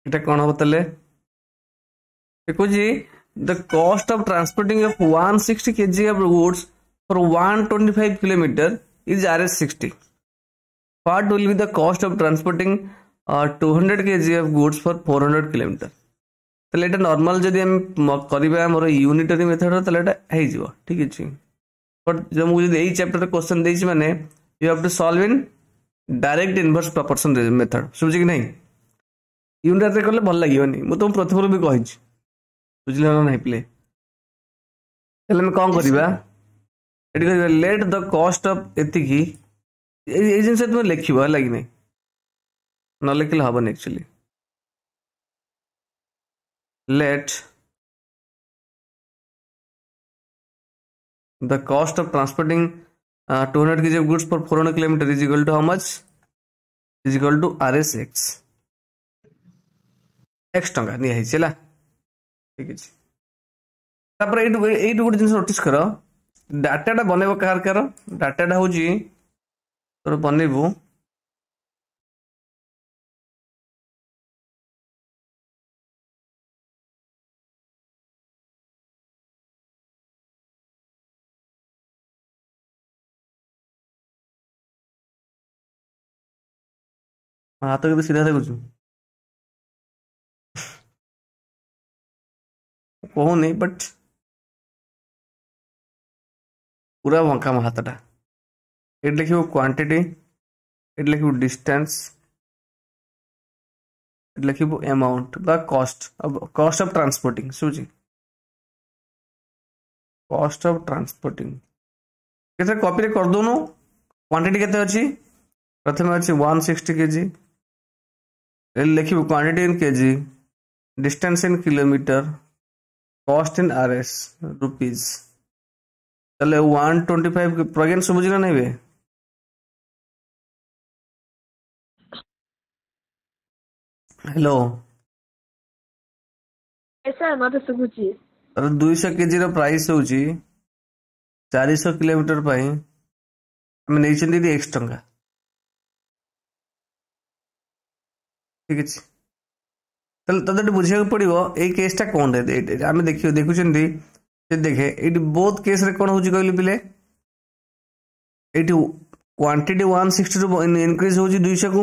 ଏଟା କ'ଣ ହବ ତାହେଲେ? କହୁଛି, the cost of transporting of 160 kg of goods for 125 kilometer is Rs 60. What will be the cost of transporting 200 kg of goods for 400 kilometer? ତାହେଲେ ଏଇଟା normal ଯଦି ଆମେ କରିବା ଆମର ୟୁନିଟରୀ ମେଥଡ଼, ତାହେଲେ ଏଇଟା ହେଇଯିବ, ଠିକ ଅଛି। ବଟ୍ ମୁଁ ଯଦି ଏଇ ଚାପ୍ଟରରେ କ୍ୱେଶ୍ଚନ୍ ଦେଇଛି, ମାନେ you have to solve in direct inverse proportion method. ଶୁଭୁଛି କି ନାହିଁ? ୟୁନିଟରୀ କଲେ ଭଲ ଲାଗିବନି। ମୁଁ ତୁମକୁ ପ୍ରଥମରୁ ବି କହିଛି, ବୁଝିଲ ନା ନାହିଁ ପିଲେ? ତାହେଲେ ଆମେ କ'ଣ କରିବା ଏଠି? କରିବା ଲେଟ୍ the କଷ୍ଟ ଅଫ୍ ଏତିକି। ଏଇ ଜିନିଷ ତୁମେ ଲେଖିବ, ହେଲା କି ନାହିଁ? ନ ଲେଖିଲେ ହବନି actually. Let the cost of transporting 200 kg of goods for 400 kilometer is equal to how much? Is equal to Rs X, X ଟଙ୍କା ନିଆ ହେଇଛି, ହେଲା? ଠିକ ଅଛି। ତାପରେ ଏଇଠୁ ଗୋଟେ ଜିନିଷ ନୋଟିସ୍ କର। ଡାଟାଟା ବନେଇବ କାହାର କାହାର? ଡାଟାଟା ହଉଛି ତୋର ବନେଇବୁ ହାତ କେତେ ସିଧା ଦେଖୁଛୁ? କହୁନି, ବଟ୍ ପୁରା ବଙ୍କା ମୋ ହାତଟା। ଏଠି ଲେଖିବୁ କ୍ୱାଣ୍ଟିଟି, ଏଠି ଲେଖିବୁ ଡିଷ୍ଟାନ୍ସ, ଏଠି ଲେଖିବୁ ଆମାଉଣ୍ଟ ବା କଷ୍ଟ ଅଫ୍ ଟ୍ରାନ୍ସପୋର୍ଟିଂ। ଶୁଭୁଛି? କଷ୍ଟ ଅଫ୍ ଟ୍ରାନ୍ସପୋର୍ଟିଂ କେତେ? କପିରେ କରିଦଉନୁ। କ୍ୱାଣ୍ଟିଟି କେତେ ଅଛି? ପ୍ରଥମେ ଅଛି 160 KG. ଲେଖିବୁ quantity in kg, distance in kilometer, cost in Rs, rupees. ତାହେଲେ 125। ପ୍ରଜ୍ଞାନ, ଶୁଭୁଛି ନା ନାହିଁ ବେ? ହ୍ୟାଲୋ? ସାର୍, ମତେ ଶୁଭୁଛି। ତାର 200 କେଜିର ପ୍ରାଇସ୍ ହେଉଛି 400 କିଲୋମିଟର ପାଇଁ ଆମେ ନେଇଛନ୍ତି ଏଠି ଏକ୍ସ ଟଙ୍କା, ଠିକ ଅଛି। ତାହେଲେ ତତେ ଏଠି ବୁଝିବାକୁ ପଡ଼ିବ ଏଇ କେସ୍ଟା କ'ଣ। ଆମେ ଦେଖିବ ଦେଖୁଛନ୍ତି ସେ ଦେଖେ, ଏଇଠି ବୋଥ୍ କେସ୍ରେ କ'ଣ ହେଉଛି କହିଲୁ ପିଲେ? ଏଇଠି କ୍ୱାଣ୍ଟିଟି 160ରୁ ଇନକ୍ରିଜ୍ ହେଉଛି 200କୁ,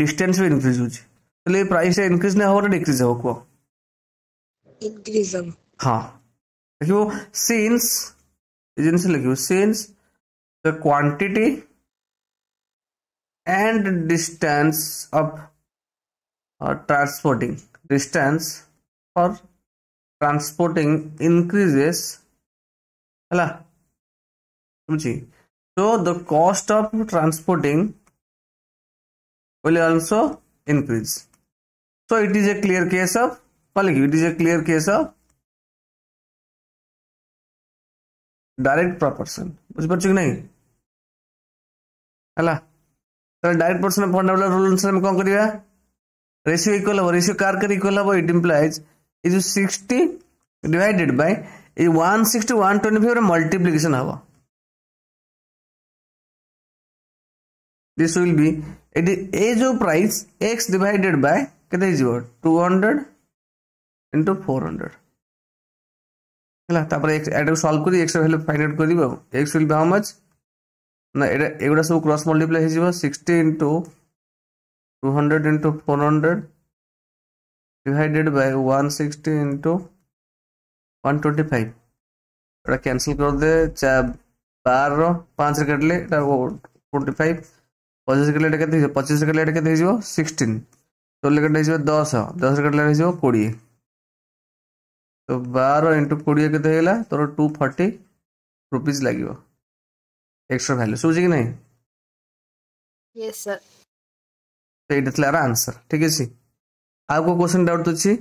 ଡିଷ୍ଟାନ୍ସ ବି ଇନକ୍ରିଜ୍ ହେଉଛି। ତାହେଲେ ଏଇ ପ୍ରାଇସ୍ଟା ଇନକ୍ରିଜ୍ ନା ହେବ ନା ଡିକ୍ରିଜ୍ ହେବ, କୁହ? ଇନକ୍ରିଜ୍ ହେବ। ହଁ, ଲେଖିବୁ ସିନ୍ସ, ଏ ଜିନିଷ ଲେଖିବୁ, since the quantity and distance of transporting, distance for transporting increases, ହେଲା? ବୁଝି? So the cost of transporting will also increase. So it is a clear case of କଣ ଲେଖିବି? It is a clear case of direct proportion. ବୁଝିପାରୁଛୁ କି ନାହିଁ? ହେଲା, ତାହେଲେ direct ପ୍ରପୋର୍ସନ fundamental rule ଅନୁସାରେ ଆମେ କ'ଣ କରିବା? ରେସିଓ ଇକ୍ୱାଲ ହବ। ରେସିଓ କାର କାର ଇକ୍ୱାଲ ହବ? ଇଟ୍ ଇମ୍ପ୍ଲାଇଜ ଏ ଯୋଉ 60 ଡିଭାଇଡେଡ୍ ବାଇ ଏଇ 160, 125 ର ମଲ୍ଟିପ୍ଲିକେସନ ହବ। This will be ଏଠି ଏ ଯୋଉ ପ୍ରାଇସ୍ ଏକ୍ସ ଡିଭାଇଡେଡ୍ ବାଇ କେତେ ହେଇଯିବ? 200 ଇଣ୍ଟୁ 400, ହେଲା? ତାପରେ ଏଟାକୁ ସଲ୍ଭ କରି ଏକ୍ସ ଭ୍ୟାଲୁ ଫାଇଣ୍ଡ ଆଉଟ୍ କରିବ। ଆଉ x will be how much ନା ଏଇଟା ଏଗୁଡ଼ା ସବୁ କ୍ରସ୍ ମଲ୍ଟିପ୍ଲାଏ ହେଇଯିବ। 60 into 200 into 400 divided by 160 into 125। ଏଟା କ୍ୟାନସଲ କରିଦେ। 12 5ରେ କାଟିଲେ ଏଟା 25, 25 କାଟିଲେ ଏଟା କେତେ ହେଇଯିବ? 25 କାଟିଲେ ଏଟା କେତେ ହେଇଯିବ? 16। 16 କାଟିଲେ ହେଇଯିବ 10, 10 କାଟିଲେ ହେଇଯିବ 20। ତ 12 ଇଣ୍ଟୁ 20 କେତେ ହେଇଗଲା ତୋର? 240 ରୁପିଜ୍ ଲାଗିବ ଏକ୍ସଟ୍ରା ଭ୍ୟାଲୁ। ଶୁଭୁଛି କି ନାହିଁ? Yes sir. ତ ଏଇଟା ଥିଲା ଆର ଆନ୍ସର, ଠିକ ଅଛି। ଆଉ କୋଉ କ୍ୱେଶ୍ଚନ ଡାଉଟ୍ ଅଛି?